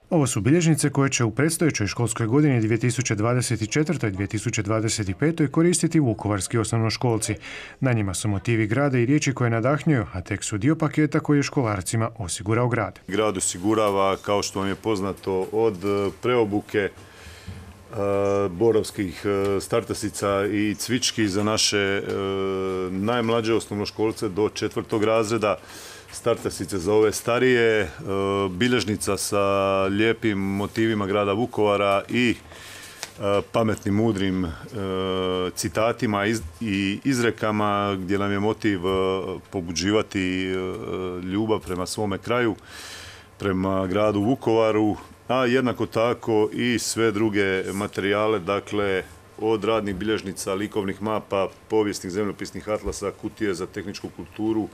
Ovo su bilježnice koje će u predstojećoj školskoj godini 2024-2025 koristiti vukovarski osnovnoškolci. Na njima su motivi grada i riječi koje nadahnjuju, a tek su dio paketa koji je školarcima osigurao grad. Grad osigurava, kao što vam je poznato, od preobuke borovskih startasica i cvički za naše najmlađe osnovnoškolce do 4. razreda, startasice za ove starije, bilježnica sa lijepim motivima grada Vukovara i pametnim, mudrim citatima i izrekama gdje nam je motiv pobuđivati ljubav prema svome kraju, prema gradu Vukovaru, a jednako tako i sve druge materijale, dakle od radnih bilježnica, likovnih mapa, povijesnih zemljopisnih atlasa, kutije za tehničku kulturu,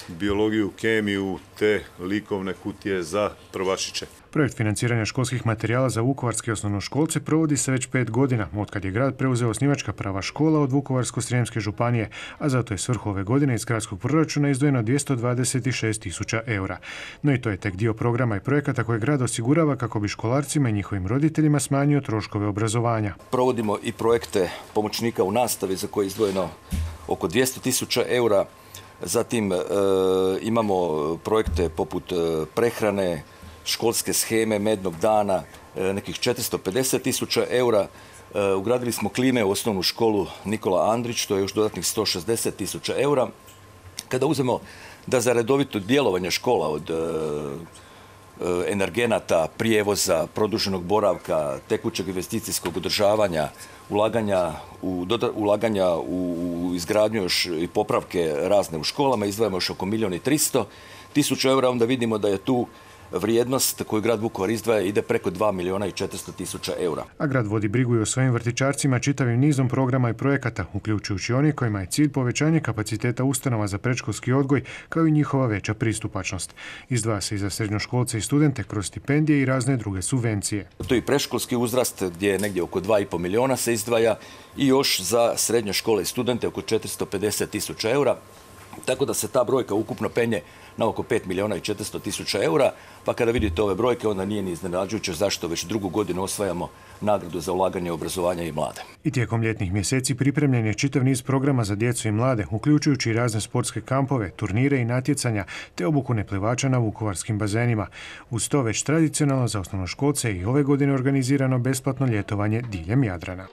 biologiju, kemiju te likovne kutije za prvašiće. Projekt financiranja školskih materijala za vukovarske osnovnoškolce provodi se već 5 godina, otkad je grad preuzeo osnivačka prava škola od Vukovarsko-srijemske županije, a zato je svrhu ove godine iz gradskog proračuna izdvojeno 226.000 eura. No i to je tek dio programa i projekata koje grad osigurava kako bi školarcima i njihovim roditeljima smanjio troškove obrazovanja. Provodimo i projekte pomoćnika u nastavi za koje je izdvojeno oko 200.000 eura. Zatim imamo projekte poput prehrane, školske sheme, mednog dana, nekih 450.000 eura. Ugradili smo klime u osnovnu školu Nikola Andrić, to je još dodatnih 160.000 eura. Kada uzmemo da za redovito djelovanje škola od energenata, prijevoza, produženog boravka, tekućeg investicijskog održavanja, ulaganja u izgradnju još i popravke razne u školama, izdvajamo još oko 1.300.000 eura, onda vidimo da je tu vrijednost koju grad Vukovar izdvaja ide preko 2.400.000 eura. A grad vodi brigu i o svojim vrtićarcima čitavim nizom programa i projekata, uključujući oni kojima je cilj povećanje kapaciteta ustanova za predškolski odgoj, kao i njihova veća pristupačnost. Izdvaja se i za srednjoškolce i studente kroz stipendije i razne druge subvencije. To je i predškolski uzrast gdje je negdje oko 2,5 milijuna se izdvaja i još za srednje škole i studente oko 450.000 eura. Tako da se ta brojka ukupno penje na oko 5.400.000 eura, pa kada vidite ove brojke onda nije ni iznenađujuće zašto već drugu godinu osvajamo nagradu za ulaganje u obrazovanje i mlade. I tijekom ljetnih mjeseci pripremljen je čitav niz programa za djecu i mlade, uključujući i razne sportske kampove, turnire i natjecanja, te obuku neplivača na vukovarskim bazenima. Uz to već tradicionalno za osnovnoškolce i ove godine organizirano besplatno ljetovanje diljem Jadrana.